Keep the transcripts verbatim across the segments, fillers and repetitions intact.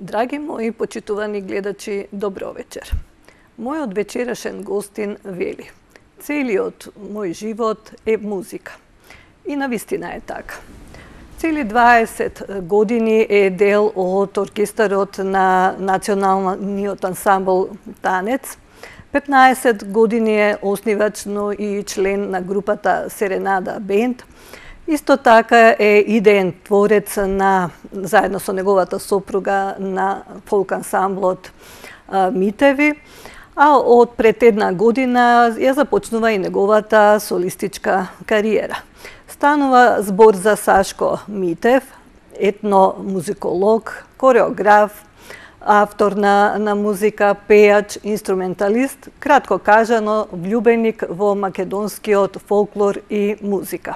Драги мои почитувани гледачи, добро вечер. Мојот вечерашен гостин вели: целиот мој живот е музика. И навистина е така. Цели дваесет години е дел од оркестарот на националниот ансамбл Танец. петнаесет години е основач, но и член на групата Серенада Бенд. Исто така е идеен творец на, заедно со неговата сопруга, на фолк ансамблот Митеви, а од пред една година ја започнува и неговата солистичка кариера. Станува збор за Сашко Митев, етномузиколог, кореограф, автор на, на музика, пејач, инструменталист, кратко кажано, влюбеник во македонскиот фолклор и музика.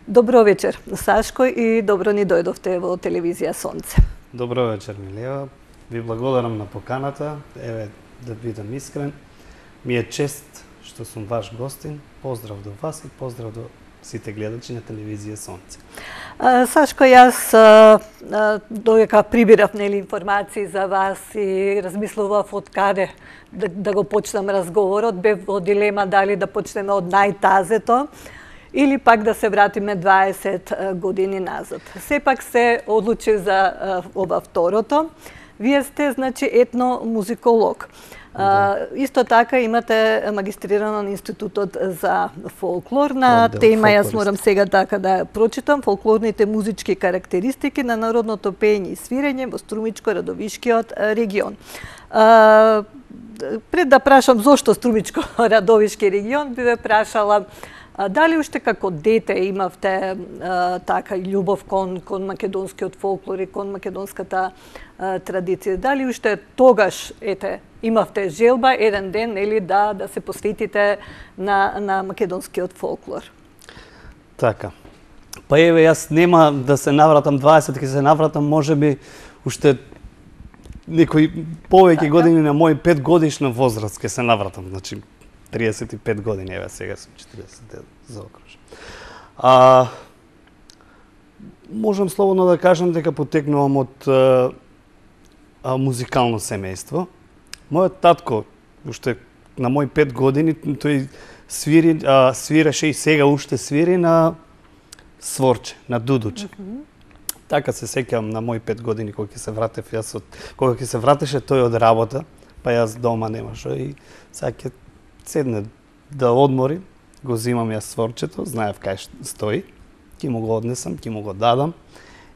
Добро вечер, Сашко, и добро ни дојдовте во телевизија Сонце. Добро вечер, Милева. Ви благодарам на поканата. Еве, да бидам искрен. Ми е чест што сум ваш гостин. Поздрав до вас и поздрав до сите гледачи на телевизија Сонце. А, Сашко, јас додека прибирав нели информации за вас и размислував од каде да, да го почнам разговорот, бев во дилема дали да почнеме од најтазето или пак да се вратиме дваесет години назад. Сепак се одлучив за ова второто. Вие сте, значи, етномузиколог. Да. Исто така имате магистрирано на Институтот за фолклор на Одел, тема, јас морам сега така да ја прочитам, фолклорните музички карактеристики на народното пеење и свирење во Струмичко-Радовишкиот регион. А, пред да прашам зошто Струмичко-Радовишки регион, би ве прашала дали уште како дете имавте а, така љубов кон, кон македонскиот фолклор и кон македонската а, традиција? Дали уште тогаш, ете, имавте желба еден ден или да да се посветите на на македонскиот фолклор? Така. Па еве, јас нема да се навратам дваесет, ќе се навратам можеби уште некои повеќе така години на мој пет годишна возраст ќе се навратам, значи триесет и пет години, еве сега сум четиристесет заокружен. А можам слободно да кажам дека потекнувам од а, а, музикално семејство. Мојот татко уште на мој пет години тој свири, а, свиреше и сега уште свири на сворче, на дудуче. Mm -hmm. Така се сеќавам на мој пет години кога ќе се вратев јас од кога ќе се вратеше тој од работа, па јас дома немаше и сега ќе седне да одмори, го зимам јас сворчето, знаев кај стои, ќе му го однесам, ќе му го дадам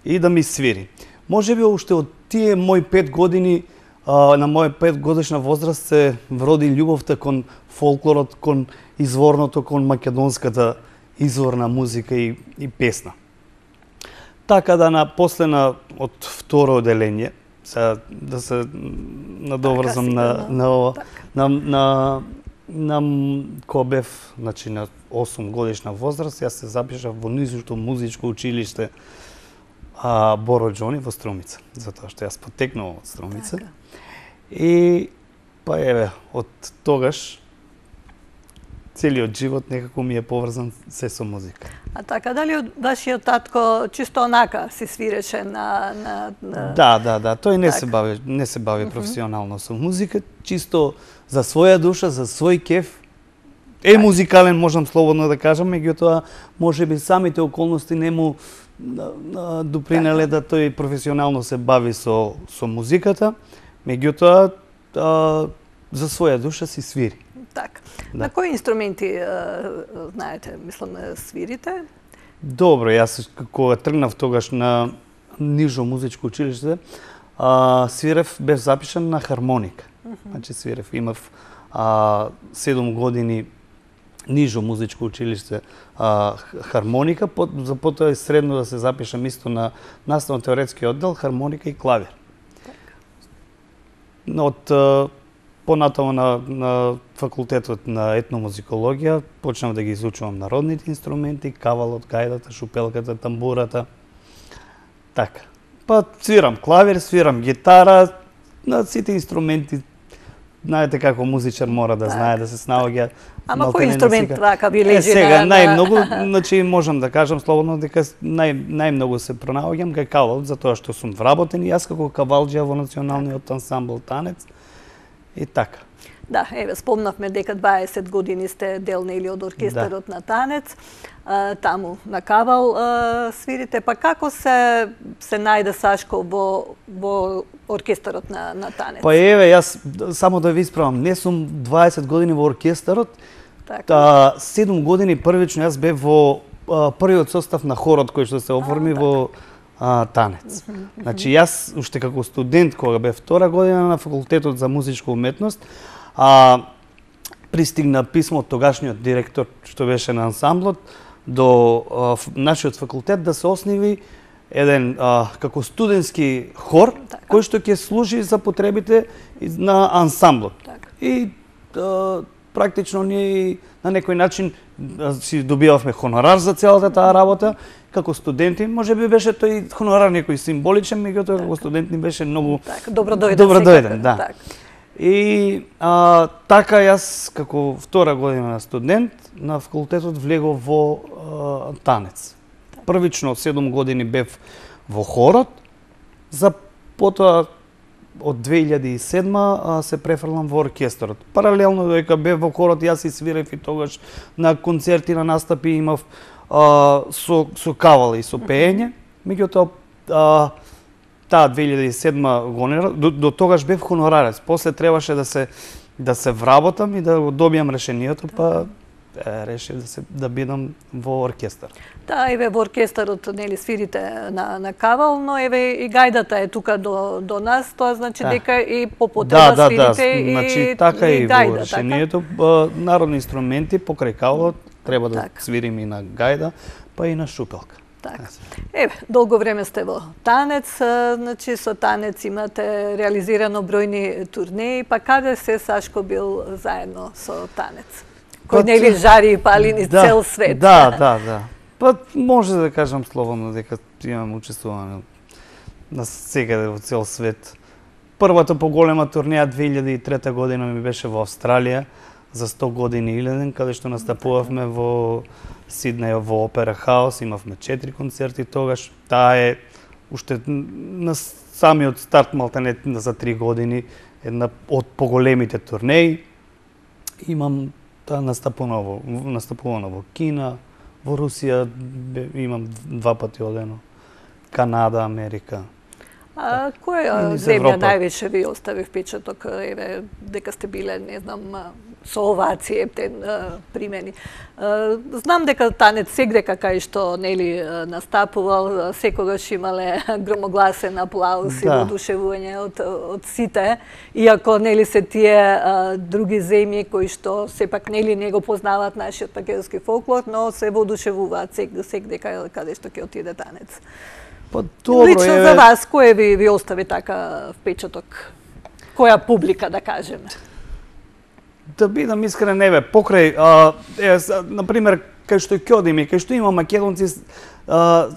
и да ми свири. Можеби уште од тие мои пет години, а, на моја пет годишна возраст се вроди љубовта кон фолклорот, кон изворното, кон македонската изворна музика и, и песна. Така да на после на од второ оделение, сега да се надоврзам така, на, на, на, на, на На кога бев, значи на осум годишна возраст, јас се запишав во низото музичко училиште а, Боро Џони во Струмица, затоа што јас потекнувам од Струмица. Така. И па еве, од тогаш целиот живот некако ми е поврзан се со музика. А така, дали од вашиот татко чисто онака си свиреше на... на, на... Да, да, да, тој не така се бави, не се бави професионално со музика, чисто за своја душа, за свој кеф. Е музикален, можам слободно да кажам, меѓутоа можеби самите околности не му допринеле да тој професионално се бави со со музиката, меѓутоа за своја душа си свири. Така. Да. На кои инструменти знаете, мислам, свирите? Добро, јас кога тргнав тогаш на нижо музичко училиште, а, свирев, бев запишан на хармоника. Uh -huh. Значи свирев, имав а, седум години нижо музичко училиште а, хармоника, по, за потоа и средно да се запишам исто на наставно-теоретски оддел, хармоника и клавир. Так. Од а, понатаму на, на факултетот на етномузикологија почнав да ги изучувам народните инструменти, кавалот, гајдата, шупелката, тамбурата. Така. Па свирам клавир, свирам гитара, на сите инструменти знаете како музичар мора да знае да се снаоѓа. Ама кој инструмент така ви лежи на... Сега најмногу, значи можам да кажам слободно дека нај најмногу се пронаоѓам кај кавал, затоа што сум вработен и јас како кавалџија во националниот ансамбл танец и така. Да, еве спомнавме дека дваесет години сте дел нели од оркестарот да. на танец, а, таму на кавал а, свирите, па како се се најде Сашко во во оркестарот на на танец? Па еве јас само да ви исправам, не сум дваесет години во оркестарот. Така. Та седум години првично јас бев во а, првиот состав на хорот кој што се оформи а, во а, танец. Значи јас уште како студент кога бев втора година на факултетот за музичка уметност, а пристигна писмо од тогашниот директор што беше на ансамблот до а, нашиот факултет да се основи еден а, како студентски хор така. Кој што ќе служи за потребите на ансамблот. Така. И а, практично ние на некој начин а, си добивавме хонорар за целата таа работа како студенти. Можеби беше тој хонорар некој символичен, меѓутоа како студент ни беше многу така, добро дојден. Добро дојден, да. Така. И а, така јас како втора година на студент на факултетот влегов во а, танец. Првично седум години бев во хорот, за потоа од две илјади и седма а, се префрлам во оркестарот. Паралелно додека бев во хорот, јас и свирев и тогаш на концерти, на настапи имав а, со со кавал и со пеење. Меѓутоа а, таа две илјади и седма година до, до тогаш бев хонорарец. После требаше да се да се вработам и да го добијам решението, па е, решив да се да бидам во оркестар. Да, еве во оркестарот нели свирите на на кавал, но еве и гајдата е тука до до нас, тоа значи да. дека и по потреба да, да, свирите да. и Значи така и, и гајда, во решението така? Народни инструменти покрај кавалот треба да така. свирим и на гајда, па и на шупелка. Така. Еве, долго време сте во танец, значи со танец имате реализирано бројни турнеи, па каде се Сашко бил заедно со танец? Кој нели жари и пали низ да, цел свет? Да, да, да. Па може да кажам слободно дека имам учествувано на секаде во цел свет. Првата поголема турнеја две илјади и трета година ми беше во Австралија за сто години Иледен, каде што настапувавме во Сиднеј во Опера Хаус, имавме четири концерти тогаш. Таа е уште на самиот старт малтане за три години една од поголемите турнеи. Имам таа настапувано во настапувано во Кина, во Русија имам два пати одено, Канада, Америка. А која земја највеќе ви остави впечаток, еве, дека сте биле, не знам, со овации, ептен примени? Знам дека танец сегдека кај што нели настапувал, секогаш имале громогласен аплауз да. и воодушевување од од сите, иако нели се тие други земји кои што сепак нели не го познаваат нашиот македонски фолклор, но се воодушевуваат сегдека каде што ќе отиде танец. Па добро Лично е... за вас, кој ви, ви остави така впечаток? Која публика, да кажеме? Да бидам искрен, еве, покрај, а, е, на пример, кај што ќе одиме, кај што има македонци, а,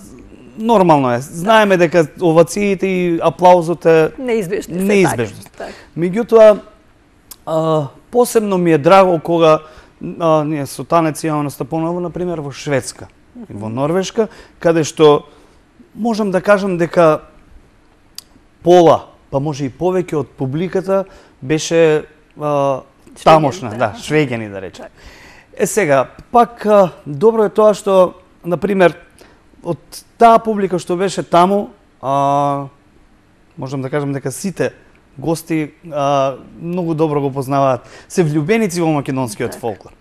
нормално е. Знаеме дека овациите и аплаузот е неизбежни. Неизбежни. Так. Меѓутоа, а, посебно ми е драго кога а, ние со танец имаме настапувано, на пример, во Шведска и во Норвешка, каде што можам да кажам дека пола, па може и повеќе од публиката беше а, тамошна, да, швеѓани да речем. Е сега, пак а, добро е тоа што, на пример, од таа публика што беше таму, а, можам да кажам дека сите гости а, многу добро го познаваат, се влюбеници во македонскиот фолклор.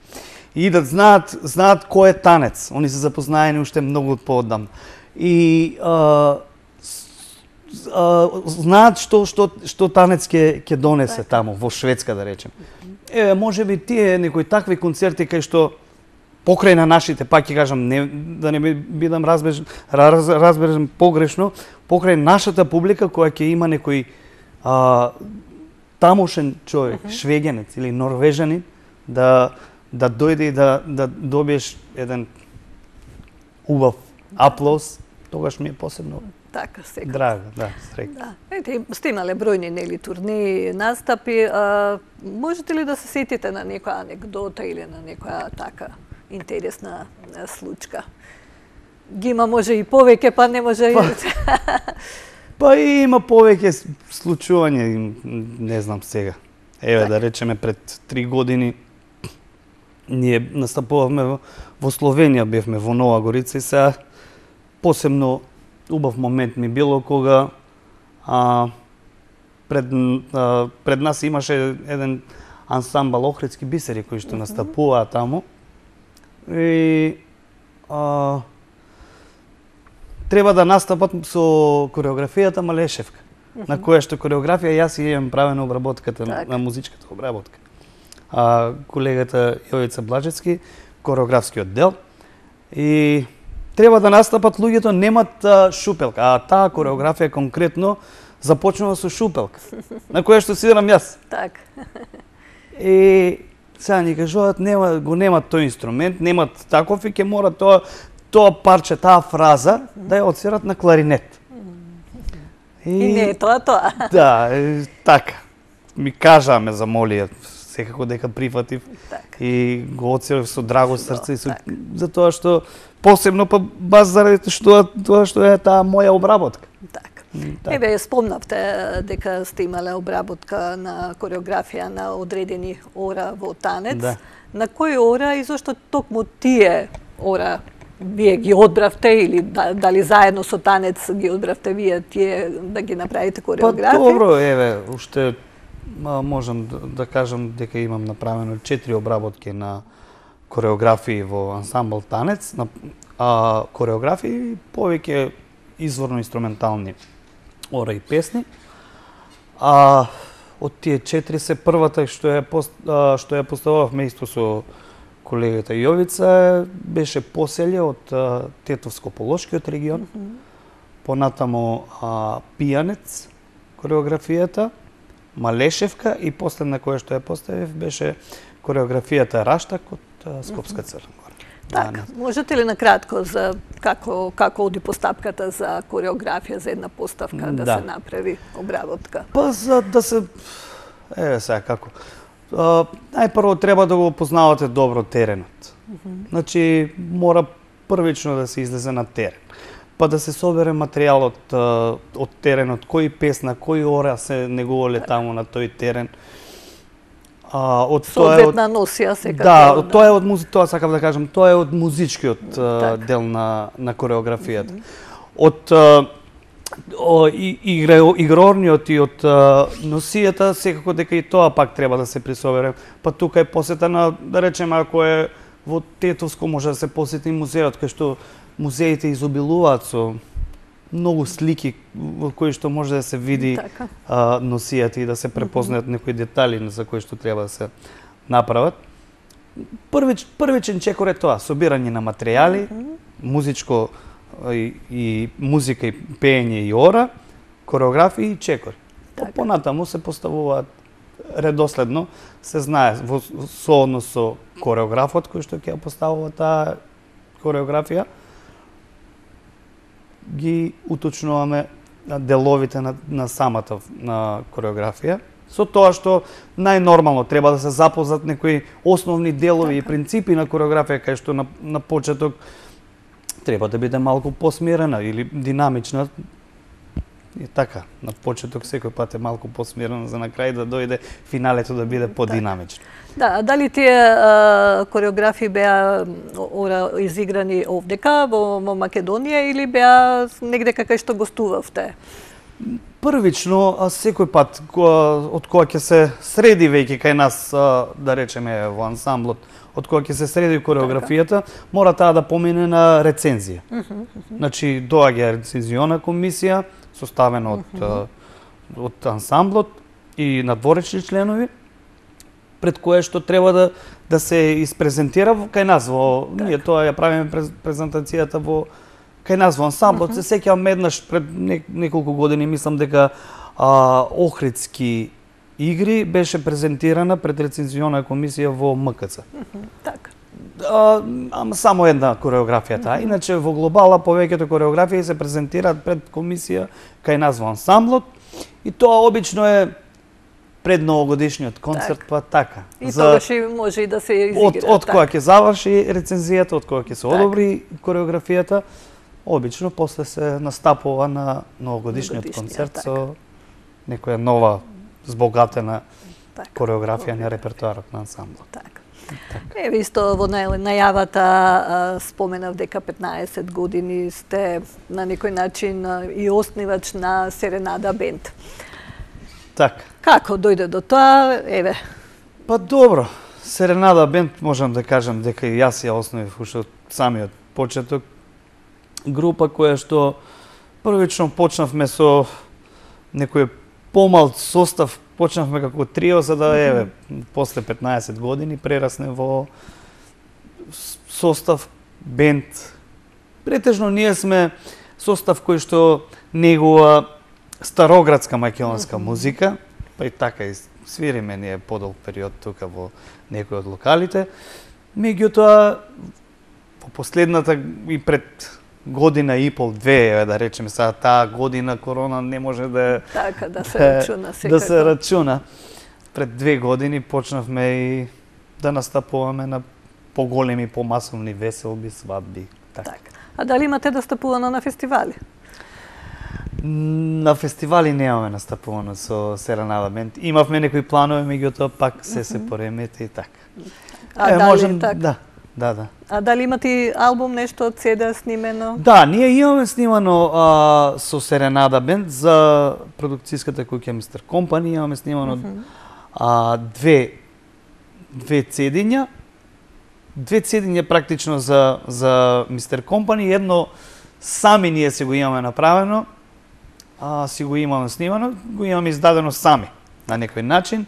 И да знаат, знаат кој е танец. Они се запознаени уште многу поодамна. И а, а, знаат што што што танец ќе ќе донесе таму во Шведска да речем. Е, можеби тие некои такви концерти кај што покрај на нашите, пак ќе кажам, не, да не бидам разбежен, раз, разбежен погрешно, покрај нашата публика која ќе има некој а, тамошен човек, uh -huh. швеѓанец или норвежанин, да да дојде и да да добиеш еден убав аплауз, тогаш ми е посебно така, секој. Драго, да, среќа. Да. Ете, сте имале бројни нели турнеи, настапи, а, можете ли да се сетите на некоја анекдота или на некоја така интересна случка? Ги има може и повеќе, па не може па, и... Па и има повеќе случувања, не знам сега. Еве, так. Да речеме, пред три години ние настапувавме во, во Словенија, бевме во Нова Горица и сега посебно убав момент ми било кога а, пред, а, пред нас имаше еден ансамбл Охридски бисери кои што настапуваа таму и а, треба да настапат со кореографијата Малешевка, uh -huh. на која што кореографија јас и имам правена обработката так. на музичката обработка. А колегата Јовица Блажецки, кореографскиот дел. И треба да настапат луѓето немат а, шупелка, а таа кореографија конкретно започнува со шупелка, на која што свирам јас. Так. И сега ни кажуваат нема го немат тој инструмент, немат таков и ќе мора тоа тоа парче, таа фраза да ја отсвират на кларинет. И, и не е тоа тоа. Да, е, така. Ми кажаа, ме замолија, секако дека прифатив так. И го отсвирав со драго срце и со, так. затоа што посебно па баш заради што тоа што е таа моја обработка. Так. Так. Еве, спомнавте дека сте имале обработка на кореографија на одредени ора во танец. Да. На кои ора и зошто токму тие ора вие ги одбравте или дали заедно со танец ги одбравте вие тие да ги направите кореографија? Па добро, еве, уште можам да, да кажам дека имам направено четири обработки на кореографии во ансамбл танец, на а, кореографии повеќе изворно инструментални ора и песни. А од тие четири се првата што ја пост, а, што ја постававме исто со колегата Јовица беше Поселје од а, Тетовско-Полошкиот регион. Mm -hmm. Понатамо а, Пијанец кореографијата, Малешевка и последна која што ја поставив беше кореографијата Раштак од а, Скопска Црна Гора. Така, можете ли на кратко за како како оди постапката за кореографија за една поставка да, да се направи обработка? Па за да се еве сега како Uh, најпрво треба да го познавате добро теренот. Mm -hmm. Значи, мора првично да се излезе на терен. Па да се собере материјалот uh, од теренот, кој песна, кој ора се негувале таму на тој терен. Uh, од Соодветна носија секако. Да, да, тоа е од музи... тоа сакам да кажам, тоа е од музичкиот uh, дел на на кореографијата. Mm -hmm. Од uh, О, и, игра, игрорниот и од а, носијата, секако дека и тоа пак треба да се присобере. Па тука е посета на, да речеме, ако е во Тетовско, може да се посети музеот, кај што музеите изобилуваат со многу слики во кои што може да се види а, носијата и да се препознаат некои детали за кои што треба да се направат. Првич, првичен чекор е тоа, собирање на материјали, музичко И, и музика, и пеење, и ора, кореографија и чекори. Така. Понатаму се поставуваат редоследно, се знае во сооднос со кореографот кој што ќе ја поставува таа кореографија, ги уточнуваме деловите на, на самата на кореографија, со тоа што најнормално треба да се запознат некои основни делови така. И принципи на кореографија, кај што на, на почеток треба да биде малку посмирена или динамична. И така, на почеток секој пат е малку посмирена за на крај да дојде финалето да биде подинамично. Да, а дали тие а, кореографии беа ора изиграни овдека во, во Македонија или беа негде кај што гостувавте? Првично, а секој пат која, од која ќе се среди веќе кај нас, а, да речеме во ансамблот, од која ќе се среди кореографијата, мора таа да помине на рецензија. Uh -huh, uh -huh. Значи, доаѓа рецензиона комисија, составена од, uh -huh. од ансамблот и надворечни членови, пред кое што треба да, да се испрезентира кај нас. Во, ние тоа ја правиме презентацијата во кај нас во ансамблот. Uh -huh. Се сеќавам еднаш пред неколку години, мислам дека а, Охридски игри беше презентирана пред рецензиона комисија во МКЦ. Так. А, ама само една кореографија таа. Иначе во глобала повеќето кореографии се презентираат пред комисија кај нас во ансамблот и тоа обично е пред новогодишниот концерт, Так. па така. И тогаш и може и да се изигра. Од, од кога така. ќе заврши рецензијата, од кога ќе се Така. одобри кореографијата, обично после се настапува на новогодишниот Новогодишниот, концерт така. со некоја нова збогатена Така. кореографија на репертоарот на ансамблот. Така. Еве исто во нај- најавата а, споменав дека петнаесет години сте на некој начин а, и основач на Серенада бенд. Така. Како дојде до тоа? Еве, Па добро, Серенада бенд можам да кажам дека и јас ја основив уште од самиот почеток. Група која што првично почнавме со некој помал состав, почнавме како трио, за да еве после петнаесет години прерасне во с- состав бенд. Претежно ние сме состав кој што негува староградска македонска музика, па и така и свириме ние подолг период тука во некои од локалите. Меѓутоа, во последната и пред година и пол, две, еве да речеме сега, таа година корона не може да така да се да- рачуна секако. да се рачуна. Пред две години почнавме и да настапуваме на поголеми, помасовни веселби, свадби. Така. Така. А дали имате настапувано на фестивали? На фестивали немаме настапувано со Серенада бенд. Имавме некои планови, меѓутоа пак се се поремети и така. А Е, дали можем, така? да, да, да. А дали имате и албум, нешто од седа снимено? Да, ние имаме снимано а, со Серенада бенд за продукцијската куќа мистер Компани, имаме снимано а, две две цедиња, две цедиња практично за за мистер Компани, едно сами ние се го имаме направено, а си го имаме снимано, го имаме издадено сами на некој начин.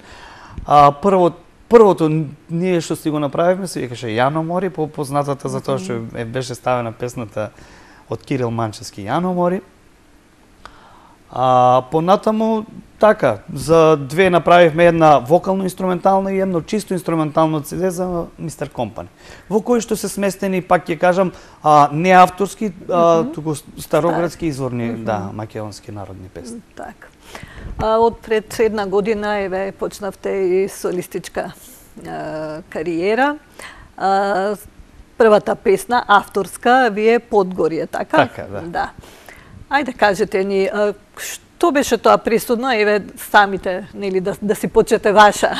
А прво првото ние што си го направивме се викаше Јано Мори, по познатата за тоа што е беше ставена песната од Кирил Манчевски Јано Мори. А понатаму така, за две направивме една вокално-инструментална и едно чисто инструментално цеде за мистер Компани, во кој што се сместени, пак ќе кажам, а, не авторски, а, туку староградски изворни, да, македонски народни песни. Така. А од пред една година еве почнавте и солистичка а, кариера. А, првата песна авторска ви е Подгорје, така? Така, да. Да. Ајде кажете ни а, што беше тоа присудно, еве самите, нели да да си почнете ваша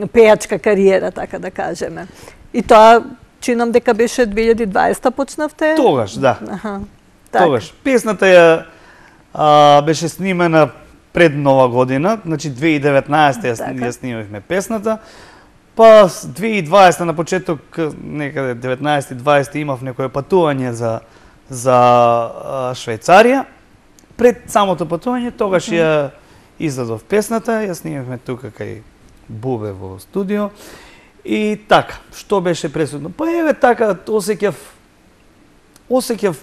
пејачка кариера, така да кажеме. И тоа чинам дека беше две илјади и дваесета почнавте? Тогаш, да. Аха. Така. Тогаш. Песната ја а, беше снимена пред Нова година, значи две илјади и деветнаесета ја, Така. ја снимавме песната. Па с две илјади и дваесета на почеток, некаде деветнаесета и дваесета имав некое патување за за а, Швајцарија. Пред самото патување тогаш ја издадов песната, ја снимавме тука кај Бубе во студио. И така, што беше пресудно? Па еве така осеќав осеќав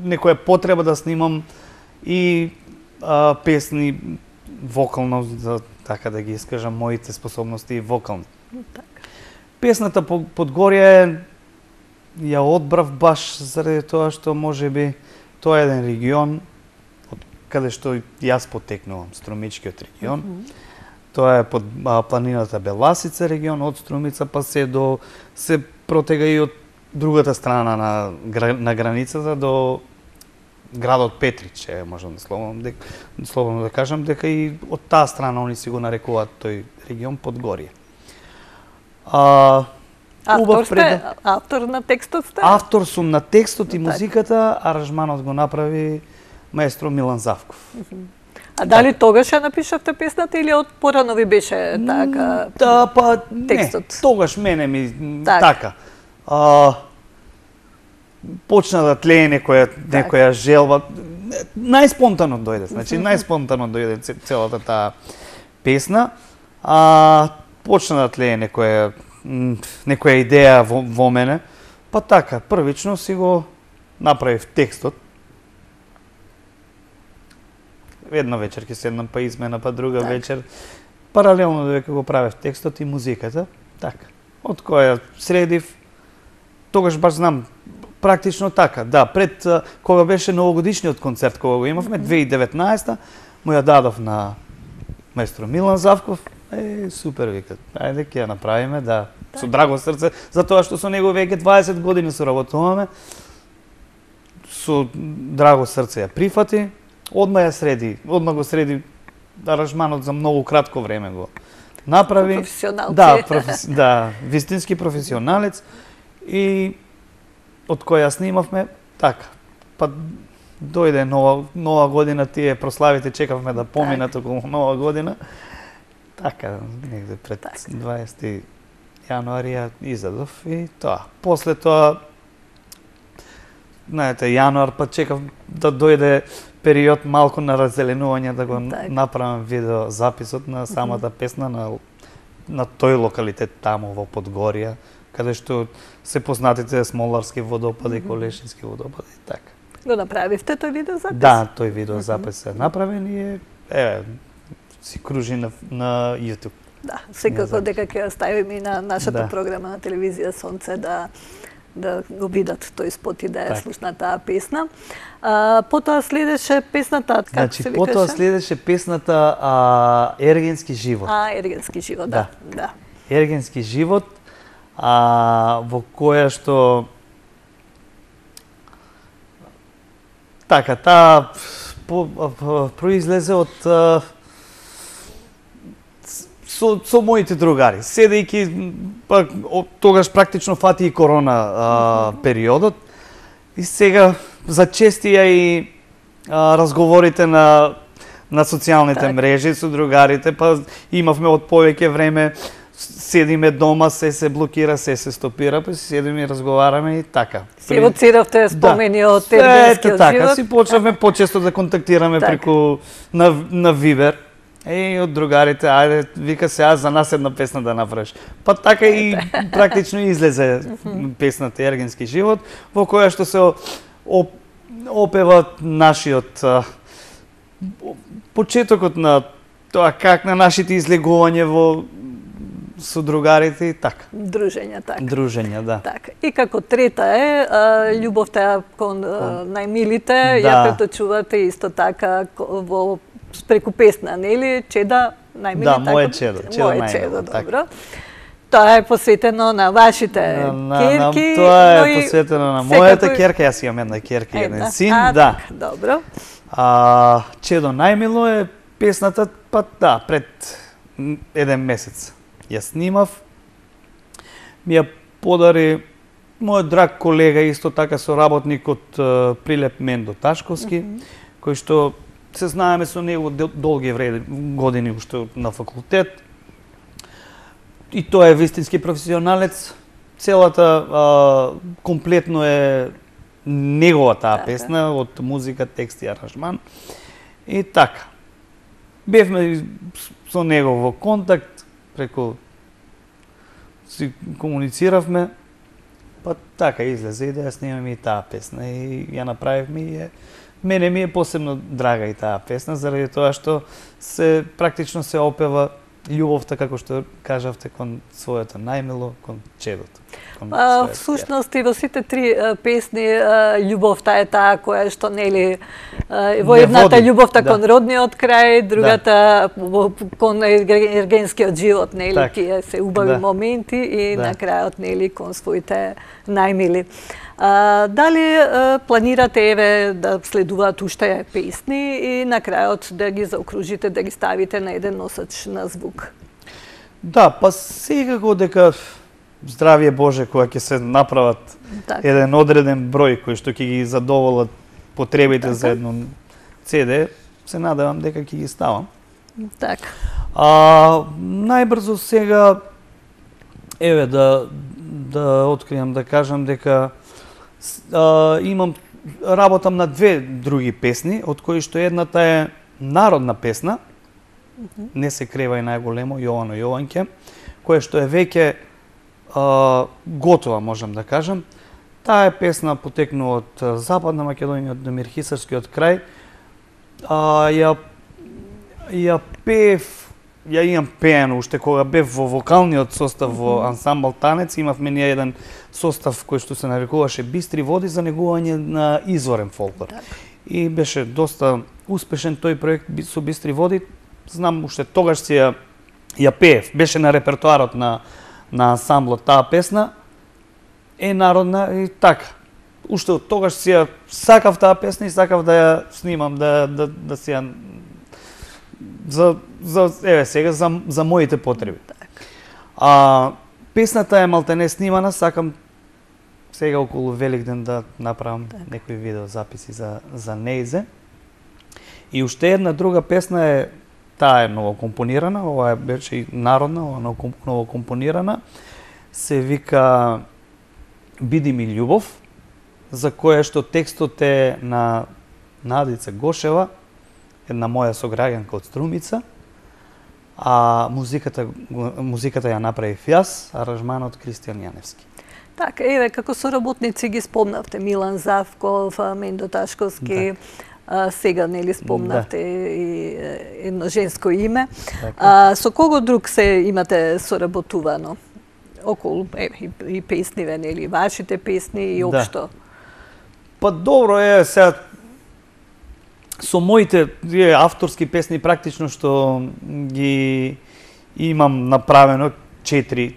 некоја потреба да снимам и а, песни вокално, за така да ги искажам моите способности вокални. Така. Песната по- Подгорје ја одбрав баш заради тоа што можеби тоа е еден регион од каде што јас потекнувам, Струмичкиот регион. Тоа е под а, планината Беласица регион, од Струмица па се до се протега и од другата страна на гра- на границата до градот Петрич, е, можам да слободно дека слободно да кажам дека и од таа страна они си го нарекуваат тој регион Подгорје. А Автор убав сте, пред... автор на текстот сте? Автор сум на текстот и Така. музиката, аранжманот го направи маестро Милан Завков. А дали тогаш ја напишавте песната или од порано ви беше така? Да, па не, текстот? тогаш мене ми м, Така. така. А, почна да тлее некоја некоја желба. Најспонтано дојде, значи најспонтано дојде ц- целата таа песна. А почна да тлее некоја м, некоја идеја во, во мене. Па така, првично си го направив текстот. Една вечер ќе седнам, па измена, па друга Така. вечер. Паралелно додека го правев текстот и музиката, така. Од која средив тогаш баш знам практично така, да, пред кога беше новогодишниот концерт кога го имавме две илади и деветнаесета, му ја дадов на маестро Милан Завков. Е, супер, викат. Ајде ќе ја направиме, да, со драго срце, затоа што со него веќе дваесет години соработуваме. Со драго срце ја прифати, одма ја среди, одма го среди аранжманот за многу кратко време го направи. Професионалци. Да, професи... да, вистински професионалец и од која снимавме така. Па дојде нова нова година, тие прославите чекавме да поминат околу нова година. Така, негде пред так. дваесети јануари ја изадов и тоа. После тоа, знаете, јануар, па чекав да дојде период малку на раззеленување, да го так. направам видео записот на самата mm -hmm. песна на, на тој локалитет таму во Подгорија, каде што се познатите Смоларски водопади, mm -hmm. Колешински водопади и така. Го направивте тој видео запис? Да, тој видео запис е направен и е, е си кружи на, на YouTube. Да, секако дека ќе ставиме и на нашата да. програма на телевизија Сонце да да го видат тој спот и да ја слушнат таа песна. А, потоа следеше песната, како значи, се викаше? Потоа следеше песната а, Ергенски живот. А, Ергенски живот, да. да. да. Ергенски живот, а, во која што така, таа произлезе од а, со, со моите другари. Седејќи, па, тогаш практично фати и корона а, периодот, и сега зачестија и а, разговорите на, на социјалните так. мрежи со другарите, па имавме од повеќе време, седиме дома, се се блокира, се се стопира, па си седиме и разговараме и така. Си евоциравте спомени да. од ергенскиот така, живот? си почнавме почесто да контактираме так. преку на, на Вибер. Е, од другарите, ајде, вика се, аз за нас една песна да направиш. Па така и практично излезе песната Ергенски живот, во која што се оп, опева нашиот а, почетокот на тоа как на нашите излегување во со другарите и така. Дружења, така. Дружења, да. Така. И како трета е, а, љубовта кон, кон најмилите, да. ја преточувате исто така во преку песна, нели? Чеда најмили, да, така? Моје чедо, чедо Моје најмило, чедо, така. добро. Тоа е посветено на вашите на, на, керки. На, тоа е но посветено на секако... мојата керка, јас имам една керка и еден син, а, да. Так, добро. А, чедо најмило е песната, па да, пред еден месец ја снимав. Ми ја подари мојот драг колега, исто така соработник од uh, Прилеп Мендо Ташковски, mm -hmm. кој што се знаеме со него долги време, години уште на факултет. И тој е вистински професионалец. Целата а, комплетно е негова таа така. Песна, од музика, текст и аранжман. И така. Бевме со него во контакт, преку си комунициравме, па така излезе и да ја снимаме и таа песна и ја направивме и е мене ми е посебно драга и таа песна, заради тоа што се практично се опева љубовта, како што кажавте, кон своето најмило, кон чедото. Кон а, всушност и во сите три а, песни а, љубовта е таа која што нели а, во едната љубовта да. Кон родниот крај, другата да. Кон ергенскиот живот, нели так. Тие се убави да. Моменти и да. На крајот нели кон своите најмили. А, дали а, планирате еве да следуваат уште песни и на крајот да ги заокружите, да ги ставите на еден носач на звук? Да, па секако дека здравје Боже кога ќе се направат так. Еден одреден број кој што ќе ги задоволат потребите така. За едно Це Де, се надевам дека ќе ги ставам. Така. А најбрзо сега еве да да откријам да кажам дека а, имам работам на две други песни, од кои што едната е народна песна, mm-hmm. Не се крева и најголемо, Јовано Јованке, која што е веќе а, готова, можам да кажам. Таа е песна потекнува од Западна Македонија, од Демирхисарскиот крај. А, ја, ја пеев ја имам пеено уште кога бев во вокалниот состав во ансамбл Танец, имавме ние еден состав кој што се нарекуваше Бистри води за негување на изворен фолклор. Так. И беше доста успешен тој проект со Бистри води. Знам уште тогаш си ја ја пеев, беше на репертоарот на на ансамблот таа песна, е народна и така. Уште од тогаш си ја сакав таа песна и сакав да ја снимам, да да да си ја за за еве сега за за моите потреби. Так. А песната е малтене снимана, сакам сега околу Великден да направам так. некои видеозаписи за за нејзе. И уште една друга песна е, таа е ново компонирана, ова е беше и народна, ова е ново компонирана. Се вика Биди ми љубов, за која што текстот е на Надица Гошева, една моја сограѓанка од Струмица, а музиката музиката ја направив јас, аранжманот Кристијан Јаневски. Така, еве, како соработници ги спомнавте Милан Завков, Мендо Ташковски, Да. а, сега нели спомнавте Да. и едно женско име. Така. А, со кого друг се имате соработувано? Околу еве, и, и песниве, нели, вашите песни и Да. општо? Па добро е сега со моите тие авторски песни практично што ги имам направено четири,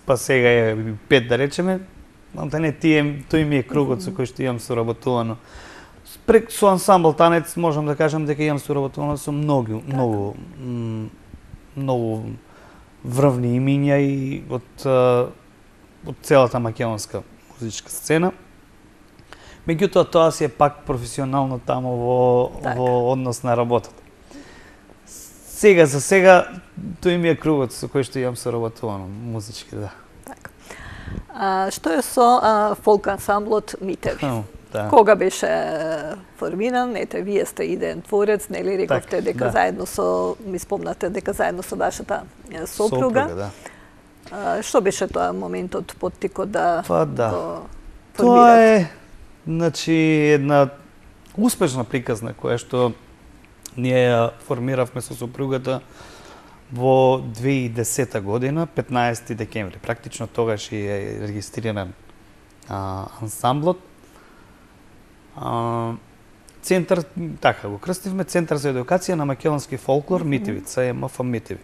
па сега е пет да речеме, да не тие тој ми е кругот со кој што имам соработувано. Прек со ансамбл Танец можам да кажам дека имам соработувано со многу, многу многу врвни имиња и од од целата македонска музичка сцена. Меѓутоа тоа си е пак професионално таму во така. во однос на работата. Сега за сега тој ми е кругот со кој што имам соработувано музички, да. Така. А, што е со а, фолк ансамблот Митеви? Хм, да. Кога беше е, формиран? Ете, вие сте идеен творец, нели рековте Так, дека да. заедно со, ми спомнате дека заедно со вашата е, сопруга. Сопруга, да. А, што беше тоа моментот, поттикот да Па да. го Тоа формирате? е, значи, една успешна приказна која што ние ја формиравме со сопругата во две илјади и десета година, петнаесети декември. Практично тогаш и е регистриран а, ансамблот. А, центар, така го крстивме, Центар за едукација на македонски фолклор Митеви, Ц Е М Ф Митеви.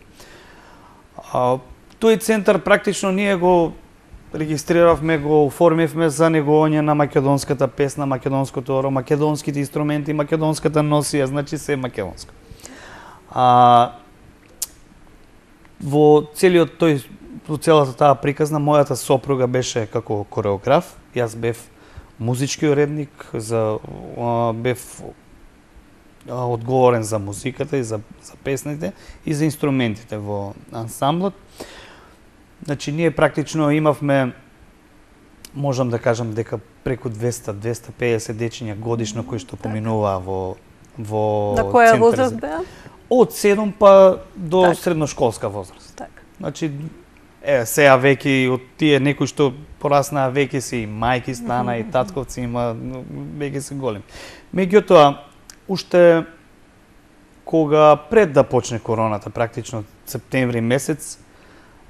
А, тој центар практично ние го регистриравме, го оформивме за негување на македонската песна, македонското оро, македонските инструменти, македонската носија, значи се македонско. А, во целиот тој, во целата таа приказна, мојата сопруга беше како кореограф, јас бев музички уредник, за, а, бев а, одговорен за музиката и за, за песните и за инструментите во ансамблот. Значи, ние практично имавме, можам да кажам дека преку двеста до двеста и педесет дечиња годишно кои што поминуваа во во На која центар возраст за- беа? Од седум па до Така. средношколска возраст. Така. Значи, е, сега веќе од тие некои што пораснаа веќе си и мајки стана и татковци има, но веќе се големи. Меѓутоа, уште кога пред да почне короната, практично септември месец,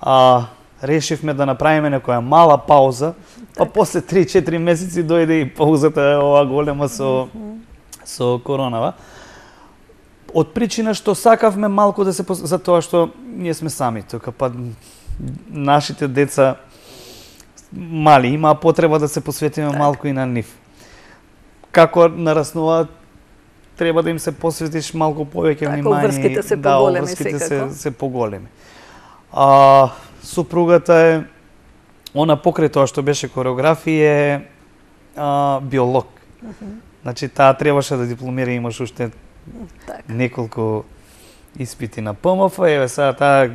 а, решивме да направиме некоја мала пауза, па после три-четири месеци дојде и паузата ова голема со со коронава. Од причина што сакавме малку да се пос... за тоа што ние сме сами тука, па нашите деца мали имаа потреба да се посветиме Так. малку и на нив. Како нараснуваат, треба да им се посветиш малку повеќе Така, внимание. обврските се да, поголеми обврските секако. се, се поголеми. А супругата е, она покрај тоа што беше кореограф и е а, биолог. Значи таа требаше да дипломира, имаш уште Така. неколку испити на П М Ф, еве сега таа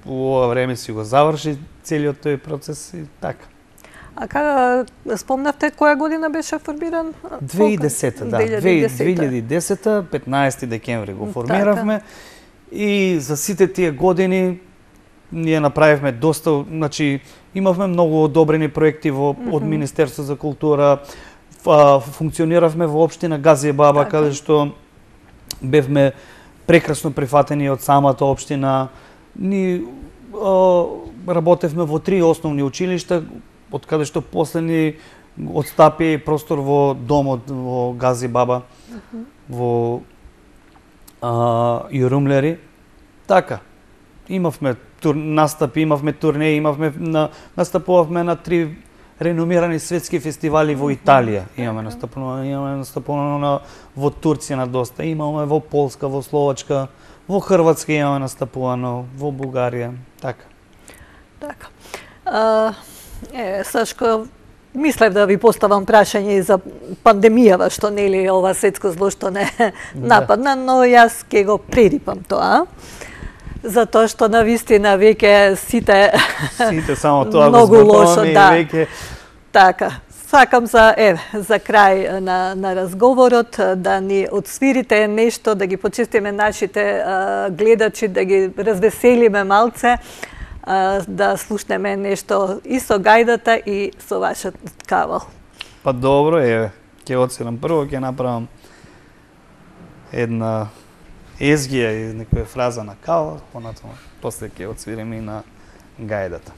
во ова време си го заврши целиот тој процес и така. А кога спомнавте која година беше формиран? две илјади и десета, да. две илјади и десета, петнаесети декември го формиравме и за сите тие години ние направивме доста, значи имавме многу одобрени проекти во од Министерство за култура, фа, функциониравме во општина Газиебаба, Така. каде што бевме прекрасно прифатени од самата општина. Ни о, работевме во три основни училишта, од каде што последни отстапи простор во домот во Гази Баба, uh -huh. во а, Јурумлери. Така, имавме тур, настапи, имавме турнеи, имавме на, настапувавме на три реномирани светски фестивали во Италија. Имаме настапувано, имаме настапувано на, во Турција на доста, имаме во Полска, во Словачка, во Хрватска имаме настапувано, во Бугарија, така. Така. А, е, Сашко, мислев да ви поставам прашање за пандемијава, што нели ова светско зло што не нападна, но јас ќе го прерипам тоа. Затоа што на вистина веќе сите сите само тоа многу лошо, да. Веќе... Така. Сакам за еве за крај на на разговорот да ни отсвирите нешто, да ги почестиме нашите а, гледачи, да ги развеселиме малце, а, да слушнеме нешто и со гајдата и со вашиот кавал. Па добро, еве, ќе оценам прво, ќе направам една езгија и некоја фраза на кавал, понатаму после ќе отсвирим и на гајдата.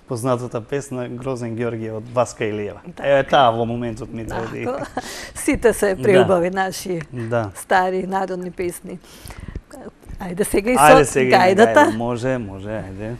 Познатата песна Грозен Ѓорѓе од Васка Илиева. Е, таа во моментот ми дојде. Сите се преубави да. Наши да. Стари народни песни. Ајде сега и со ајде, сега гајдата. Ајде, може, може, ајде.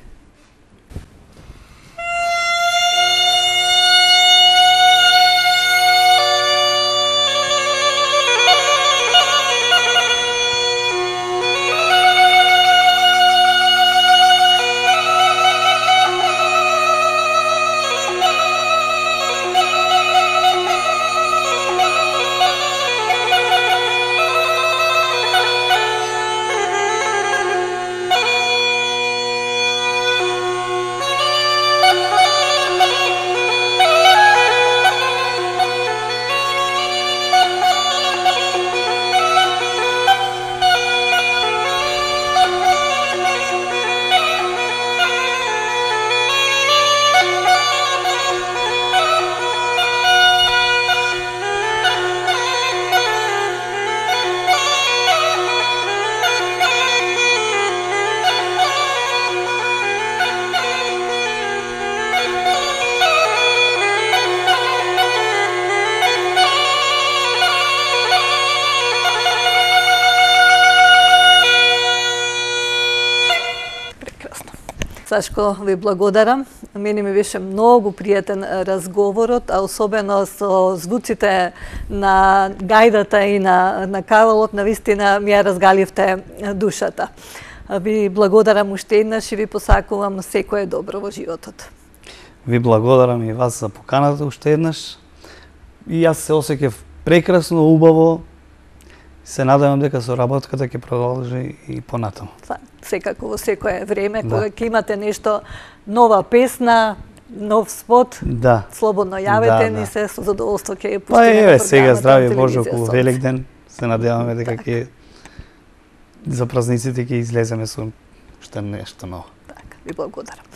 Сашко, ви благодарам. Мене ми беше многу пријатен разговорот, а особено со звуците на гајдата и на, на кавалот, навистина ми ја разгаливте душата. Ви благодарам уште еднаш и ви посакувам секое добро во животот. Ви благодарам и вас за поканата уште еднаш. И јас се осеќав прекрасно, убаво. Се надевам дека соработката ќе продолжи и понатаму. Секако во секое време, да. Кога ќе имате нешто, нова песна, нов спот, да. Слободно јавете да, ни да. се, со задоволство ќе ја пуштиме. Па еве сега здрави Боже околу Великден. Се надеваме дека ќе за празниците ќе излеземе со уште нешто ново. Така, ви благодарам.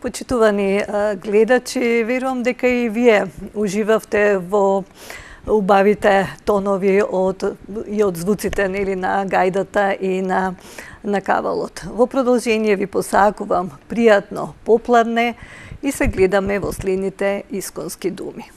Почитувани гледачи, верувам дека и вие уживавте во убавите тонови од и од звуците нели на гајдата и на на кавалот. Во продолжение ви посакувам пријатно попладне и се гледаме во следните исконски думи.